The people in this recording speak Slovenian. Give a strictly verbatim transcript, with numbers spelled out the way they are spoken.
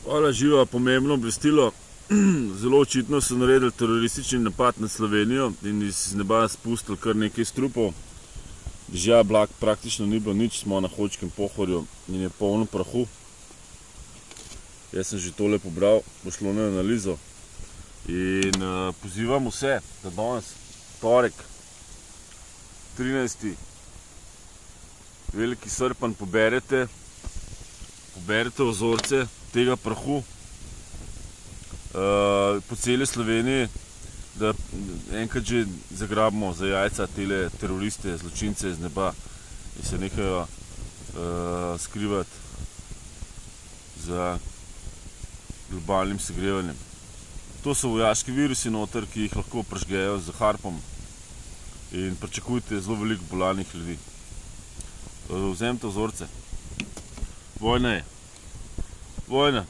Hvala, živa, pomembno obvestilo. Zelo očitno so naredili teroristični napad na Slovenijo in iz neba spustili kar nekaj strupov. Dežja, blag praktično ni bilo nič, smo na Hočkem Pohorju in je polno prahu. Jaz sem že tole pobral, bo šlo na analizo. In uh, pozivam vse, da danes, torek, trinajsti veliki srpanj, poberete, poberete ozorce tega prahu uh, po celi Sloveniji, da enkrat že zagrabimo za jajca tele teroriste, zločince iz neba in se nehajo uh, skrivati za globalnim segrevanjem. To so vojaški virusi noter, ki jih lahko prežgejo z harpom in pričakujte zelo veliko bolanih ljudi. Vzemite vzorce. Vojna je. Vojna.